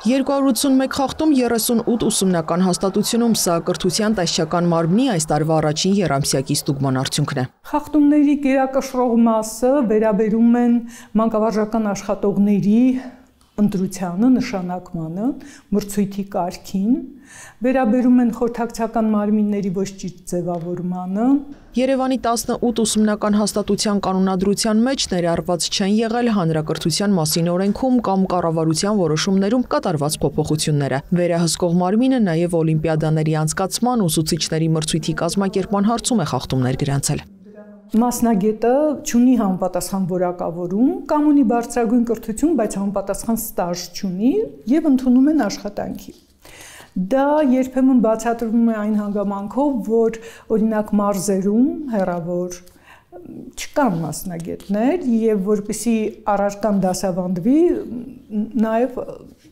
281 խախտում 38 ուսումնական հաստատությունում սա կրթության տեսչական մարմնի այս տարվա առաջին եռամսյակի ստուգման արդյունքն է։ Խախտումների գերակշռող մասը վերաբերում են մանկավարժական աշխատողների ընտրությանը, նշանակմանը, մրցույթի կարգին, վերաբերում են խորհրդակցական մարմինների ոչ ճիշտ ձևավորմանը։ Երևանի 18 ուսումնական հաստատության կանոնադրության մեջ ներառված չեն եղել հանրակրթության մասին օրենքում կամ կառավարության որոշումներում կատարված փոփոխությունները։ Վերահսկող մարմինը նաև օլիմպիադաների անցկացման ուսուցիչների մրցույթի կազմակերպման հարցում է խախտումներ գրանցել։ Մասնագետը չունի համապատասխան որակավորում կամ ունի բարձրագույն կրթություն, բայց համապատասխան ստաժ չունի եւ ընդունում են աշխատանքի։ Դա երբեմն բացատրվում է այն հանգամանքով, որ օրինակ մարզերում հեռավոր չկան մասնագետներ եւ որպեսզի առարկան դասավանդվի, նաեւ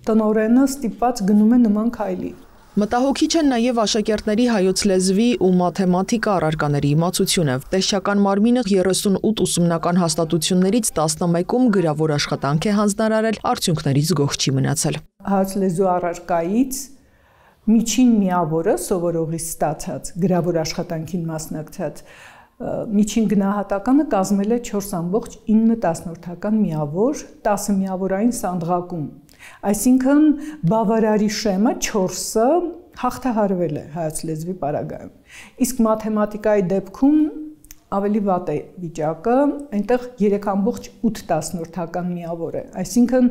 տնօրենը ստիպված գնում է նման քայլի։ Մտահոգիչ են նաև աշակերտների հայոց լեզվի ու մաթեմատիկա առարկաների իմացությունը։ Տեսչական մարմինը 38 ուսումնական հաստատություններից 11-ում գրավոր աշխատանք է հանձնարարել, արդյունքներից գոհ չի մնացել։ Հայոց լեզու առարկայից միջին միավորը սովորողի ստացած գրավոր աշխատանքին մասնակցած միջին գնահատականը կազմել է 4.9 միավոր 10 միավորային սանդղակում։ Այսինքն բավարարի շեմը 4-ը հաղթահարվել է հայոց լեզվի պարագայում։ Իսկ մաթեմատիկայի դեպքում ավելի վատ է վիճակը, այնտեղ 3.8 միավոր է։ Այսինքն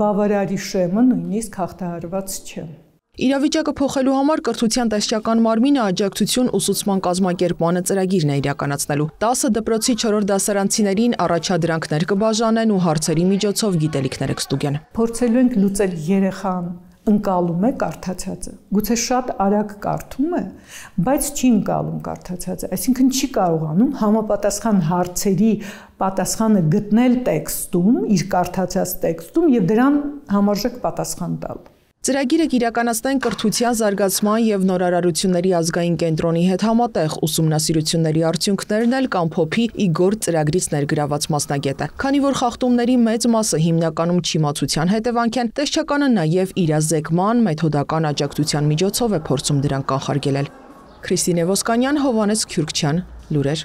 բավարարի շեմը նույնիսկ հաղթահարված չէ։ Իրավիճակը փոխելու համար կրթության տեսչական մարմինը աջակցություն ուսուցման կազմակերպմանը ծրագիրն է իրականացնելու։ 10 դպրոցի 4 դասարանցիներին առաջադրանքներ կբաժանեն ու հարցերի միջոցով գիտելիքներ կստուգեն։ Փորձելու ենք լուծել երեխան ընկալում է կարդացածը։ Գուցե շատ արագ կարդում է, բայց չի ընկալում կարդացածը, այսինքն չի կարողանում համապատասխան հարցերի պատասխանը գտնել տեքստում, իր կարդացած տեքստում եւ դրան համարժեք պատասխան տալ։ Ծրագիրը կիրականացնեն կրթության զարգացման եւ նորարարությունների ազգային կենտրոնի հետ համատեղ ուսումնասիրությունների արդյունքներն էլ կամփոփի Իգոր ծրագրից ներգրաված մասնագետը։ Քանի որ խախտումների մեծ մասը հիմնականում չիմացության հետևանք են, տեսչականը նաեւ իրազեկման մեթոդական աջակցության միջոցով է փորձում դրանք կանխարգելել։ Քրիստինե Ոսկանյան, Հովհաննես Քյուրքչյան, լուրեր։